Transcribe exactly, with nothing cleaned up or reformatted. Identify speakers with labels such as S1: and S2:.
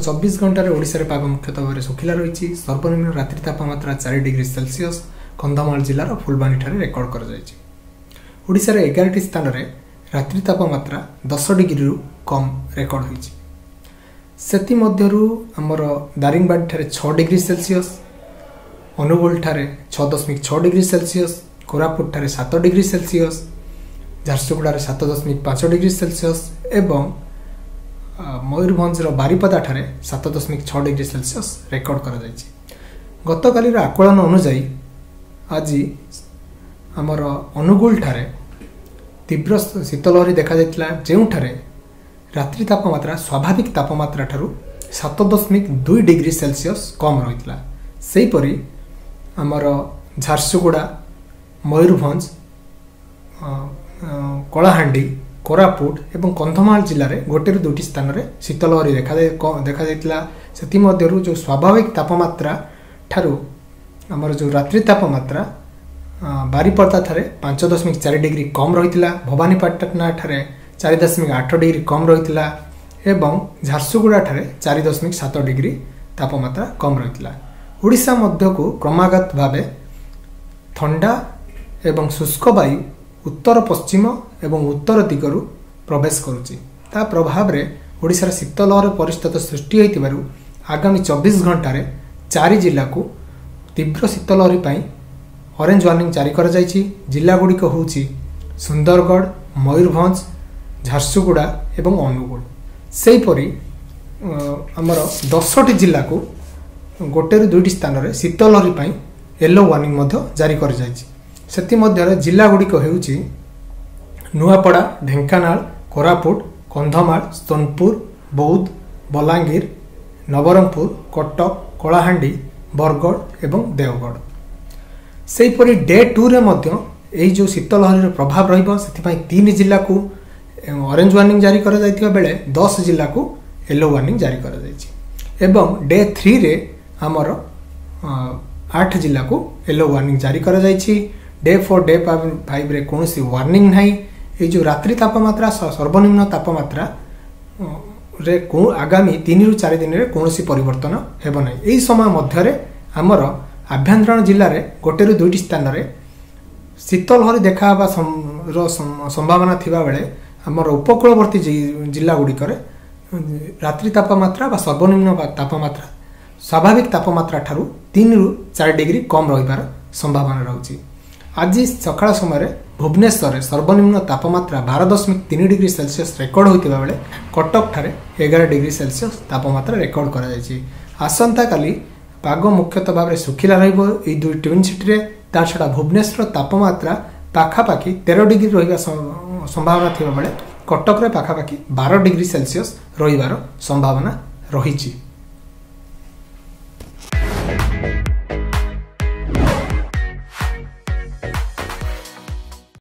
S1: ଚବିଶ ଘଣ୍ଟାରେ ଓଡ଼ିଶାରେ ପାଗ ମୁଖ୍ୟତଃ ଭାବରେ ଶୁଖିଲା ରହିଛି। ସର୍ବନିମ୍ନ ରାତ୍ରି ତାପମାତ୍ରା ଚାରି ଡିଗ୍ରୀ ସେଲସିୟସ୍ କନ୍ଧମାଳ ଜିଲ୍ଲାର ଫୁଲବାଣୀଠାରେ ରେକର୍ଡ କରାଯାଇଛି। ଓଡ଼ିଶାର ଏଗାରଟି ସ୍ଥାନରେ ରାତ୍ରି ତାପମାତ୍ରା ଦଶ ଡିଗ୍ରୀରୁ କମ୍ ରେକର୍ଡ ହୋଇଛି। ସେଥିମଧ୍ୟରୁ ଆମର ଦାରିଙ୍ଗବାଡ଼ିଠାରେ ଛଅ ଡିଗ୍ରୀ ସେଲସିୟସ୍, ଅନୁଗୁଳଠାରେ ଛଅ ଦଶମିକ ଛଅ ଡିଗ୍ରୀ ସେଲସିୟସ୍, କୋରାପୁଟଠାରେ ସାତ ଡିଗ୍ରୀ ସେଲସିୟସ୍, ଝାରସୁଗୁଡ଼ାରେ ସାତ ଦଶମିକ ପାଞ୍ଚ ଡିଗ୍ରୀ ସେଲସିୟସ୍ ଏବଂ ମୟୂରଭଞ୍ଜର ବାରିପଦାଠାରେ ସାତ ଦଶମିକ ଛଅ ଡିଗ୍ରୀ ସେଲସିୟସ୍ ରେକର୍ଡ କରାଯାଇଛି। ଗତକାଲିର ଆକଳନ ଅନୁଯାୟୀ ଆଜି ଆମର ଅନୁଗୁଳଠାରେ ତୀବ୍ର ଶୀତଲହରୀ ଦେଖାଯାଇଥିଲା, ଯେଉଁଠାରେ ରାତ୍ରି ତାପମାତ୍ରା ସ୍ୱାଭାବିକ ତାପମାତ୍ରା ଠାରୁ ସାତ ଦଶମିକ ଦୁଇ ଡିଗ୍ରୀ ସେଲସିୟସ୍ କମ୍ ରହିଥିଲା। ସେହିପରି ଆମର ଝାରସୁଗୁଡ଼ା, ମୟୂରଭଞ୍ଜ, କଳାହାଣ୍ଡି, କୋରାପୁଟ ଏବଂ କନ୍ଧମାଳ ଜିଲ୍ଲାରେ ଗୋଟେରୁ ଦୁଇଟି ସ୍ଥାନରେ ଶୀତଲହରୀ ଦେଖାଯାଇ ଦେଖାଯାଇଥିଲା। ସେଥିମଧ୍ୟରୁ ଯେଉଁ ସ୍ୱାଭାବିକ ତାପମାତ୍ରା ଠାରୁ ଆମର ଯେଉଁ ରାତ୍ରି ତାପମାତ୍ରା ବାରିପଦାଠାରେ ପାଞ୍ଚ ଦଶମିକ ଚାରି ଡିଗ୍ରୀ କମ୍ ରହିଥିଲା, ଭବାନୀପାଟଣାଠାରେ ଚାରି ଦଶମିକ ଆଠ ଡିଗ୍ରୀ କମ୍ ରହିଥିଲା ଏବଂ ଝାରସୁଗୁଡ଼ାଠାରେ ଚାରି ଦଶମିକ ସାତ ଡିଗ୍ରୀ ତାପମାତ୍ରା କମ୍ ରହିଥିଲା। ଓଡ଼ିଶା ମଧ୍ୟକୁ କ୍ରମାଗତ ଭାବେ ଥଣ୍ଡା ଏବଂ ଶୁଷ୍କ ବାୟୁ ଉତ୍ତର ପଶ୍ଚିମ ଏବଂ ଉତ୍ତର ଦିଗରୁ ପ୍ରବେଶ କରୁଛି। ତା ପ୍ରଭାବରେ ଓଡ଼ିଶାର ଶୀତଲହର ପରିସ୍ଥିତି ସୃଷ୍ଟି ହୋଇଥିବାରୁ ଆଗାମୀ ଚବିଶ ଘଣ୍ଟାରେ ଚାରି ଜିଲ୍ଲାକୁ ତୀବ୍ର ଶୀତଲହରୀ ପାଇଁ ଅରେଞ୍ଜ ୱାର୍ଣ୍ଣିଂ ଜାରି କରାଯାଇଛି। ଜିଲ୍ଲାଗୁଡ଼ିକ ହେଉଛି ସୁନ୍ଦରଗଡ଼, ମୟୂରଭଞ୍ଜ, ଝାରସୁଗୁଡ଼ା ଏବଂ ଅନୁଗୁଳ। ସେହିପରି ଆମର ଦଶଟି ଜିଲ୍ଲାକୁ ଗୋଟେରୁ ଦୁଇଟି ସ୍ଥାନରେ ଶୀତଲହରୀ ପାଇଁ ୟେଲୋ ୱାର୍ଣ୍ଣିଂ ମଧ୍ୟ ଜାରି କରାଯାଇଛି। ସେଥିମଧ୍ୟରେ ଜିଲ୍ଲାଗୁଡ଼ିକ ହେଉଛି ନୂଆପଡ଼ା, ଢେଙ୍କାନାଳ, କୋରାପୁଟ, କନ୍ଧମାଳ, ସୋନପୁର, ବୌଦ୍ଧ, ବଲାଙ୍ଗୀର, ନବରଙ୍ଗପୁର, କଟକ, କଳାହାଣ୍ଡି, ବରଗଡ଼ ଏବଂ ଦେଓଗଡ଼। ସେହିପରି ଡେ ଟୁରେ ମଧ୍ୟ ଏହି ଯେଉଁ ଶୀତଲହରୀର ପ୍ରଭାବ ରହିବ, ସେଥିପାଇଁ ତିନି ଜିଲ୍ଲାକୁ ଅରେଞ୍ଜ ୱାର୍ଣ୍ଣିଂ ଜାରି କରାଯାଇଥିବା ବେଳେ ଦଶ ଜିଲ୍ଲାକୁ ୟେଲୋ ୱାର୍ଣ୍ଣିଂ ଜାରି କରାଯାଇଛି ଏବଂ ଡେ ଥ୍ରୀରେ ଆମର ଆଠ ଜିଲ୍ଲାକୁ ୟେଲୋ ୱାର୍ଣ୍ଣିଂ ଜାରି କରାଯାଇଛି। ଡେ ଫୋର୍, ଡେ ଫାଇଭରେ କୌଣସି ୱାର୍ଣ୍ଣିଂ ନାହିଁ। ଏଇ ଯେଉଁ ରାତ୍ରି ତାପମାତ୍ରା, ସର୍ବନିମ୍ନ ତାପମାତ୍ରା ରେ ଆଗାମୀ ତିନିରୁ ଚାରି ଦିନରେ କୌଣସି ପରିବର୍ତ୍ତନ ହେବ ନାହିଁ। ଏହି ସମୟ ମଧ୍ୟରେ ଆମର ଆଭ୍ୟନ୍ତରୀଣ ଜିଲ୍ଲାରେ ଗୋଟେରୁ ଦୁଇଟି ସ୍ଥାନରେ ଶୀତଲହରୀ ଦେଖା ହେବା ସମ୍ଭାବନା ଥିବାବେଳେ ଆମର ଉପକୂଳବର୍ତ୍ତୀ ଜିଲ୍ଲା ଗୁଡ଼ିକରେ ରାତ୍ରି ତାପମାତ୍ରା ବା ସର୍ବନିମ୍ନ ତାପମାତ୍ରା ସ୍ୱାଭାବିକ ତାପମାତ୍ରା ଠାରୁ ତିନିରୁ ଚାରି ଡିଗ୍ରୀ କମ୍ ରହିବାର ସମ୍ଭାବନା ରହୁଛି। ଆଜି ସକାଳ ସମୟରେ ଭୁବନେଶ୍ୱରରେ ସର୍ବନିମ୍ନ ତାପମାତ୍ରା ବାର ଦଶମିକ ତିନି ଡିଗ୍ରୀ ସେଲସିୟସ୍ ରେକର୍ଡ ହୋଇଥିବା ବେଳେ କଟକଠାରେ ଏଗାର ଡିଗ୍ରୀ ସେଲସିୟସ୍ ତାପମାତ୍ରା ରେକର୍ଡ କରାଯାଇଛି। ଆସନ୍ତାକାଲି ପାଗ ମୁଖ୍ୟତଃ ଭାବରେ ଶୁଖିଲା ରହିବ ଏଇ ଦୁଇ ଟ୍ୱିନ୍ ସିଟିରେ। ତା ଛଡ଼ା ଭୁବନେଶ୍ୱର ତାପମାତ୍ରା ପାଖାପାଖି ତେର ଡିଗ୍ରୀ ରହିବା ସମ୍ଭାବନା ଥିବାବେଳେ କଟକରେ ପାଖାପାଖି ବାର ଡିଗ୍ରୀ ସେଲସିୟସ୍ ରହିବାର ସମ୍ଭାବନା ରହିଛି।